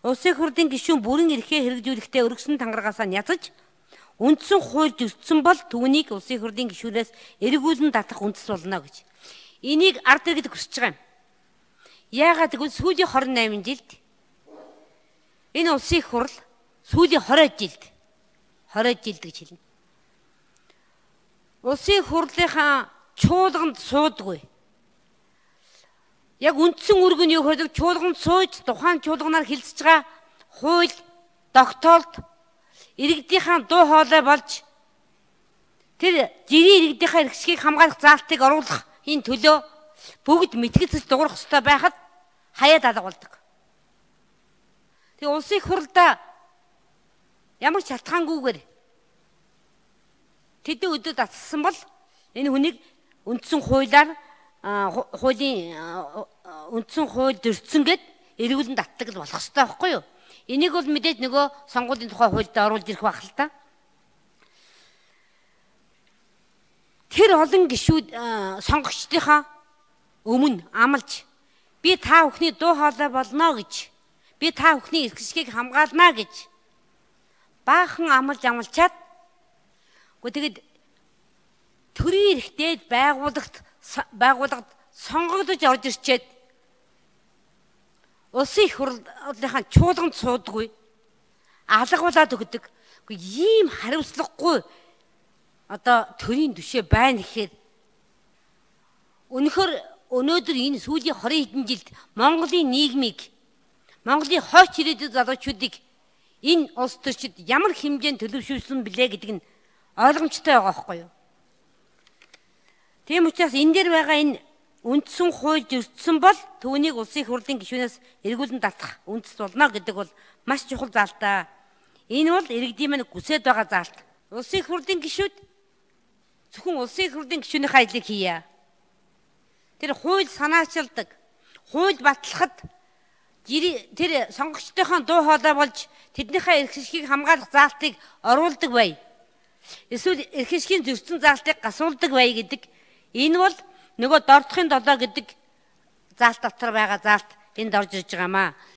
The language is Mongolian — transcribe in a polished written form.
Улсын хурлын гишүүн бүрэн эрхээ хэрэгжүүлэхдээ өргөсөн тангарагаас нь язаж үндсэн хуульд өртсөн бол түүнийг улсын хурлын гишүүнээс эргүүлэн татах үндэс болно гэж. Энийг ард иргэд хүсэж байгаа юм. Яагаад гэвэл сүүлийн 28 жилд энэ улсын хурл сүүлийн 20 жилд гэж хэлнэ. Улсын хурлынхаа чуулганд суудгүй. Яг үндсэн үүрэг нь юу гэхээр чуулганд сууж тухайн чуулганаар хэлцэж байгаа хууль, тогтоолт иргэдийнхаа дуу хоолой болж тэр жирийн иргэдийнхаа эрхшгийг хамгаалах заалтыг оруулах энэ төлөө бүгд мэтгэж дуурах ёстой байхад хаяад алга болдог. Тэгээ улсын хурлда ямар ч шалтгаангүйгээр тэдний өдөрт атсан бол энэ хүнийг үндсэн хуулиар хуулийн үндсэн хууль зөрчсөн гэд эргүүлэн татдаг л болох ёстой байхгүй юу? Энийг бол мэдээж нөгөө сонгуулийн тухай хуульд оруулж ирэх байх л та. Тэр олон гишүүд сонгогчдынхаа өмнө амлаж би та бүхний дуу хоолой болно гэж, би та бүхний эрх шгийг хамгаална гэж баахан амлчаад тэгээд төрийн эрхтэй байгууллагад сонгогдож орж ирчээд улсын хурлынхаа чуулганд суудаггүй, алгуулад өгдөг. Ийм хариуцлагагүй төрийн түшээ байна гэхээр өнөхөр өнөөдөр энэ сүүлийн 20 хэдэн жилд Монголын нийгмийг, Монголын хойч ирээдүйн залуучуудыг энэ улс төрчид ямар хэмжээнд төлөвшүүлсэн билээ гэдэг нь ойлгомжтой байгаа байхгүй юу? Тийм учраас энэ дээр байгаа энэ үндсэн хууль зөрчсөн бол түүнийг улсын хурлын гишүүнээс эргүүлэн татах үндэс болно гэдэг бол маш чухал заалтаа. Энэ бол иргэдийн маань хүсэж байгаа заалт. Улсын хурлын гишүүд зөвхөн улсын хурлын гишүүнийхээ ажлыг хийе. Тэр хууль санаачилдаг, хууль батлахад тэр сонгогчдынхаа дуу хоолой болж тэднийхээ эрх шгийг хамгаалах заалтыг оруулдаг бай. Эсвэл эрх шгийн зөрчсөн заалтыг гасуулдаг бай гэдэг. Энэ бол нөгөө дордохын долоо гэдэг заалт дотор байгаа заалт энд орж ирж байгаамаа.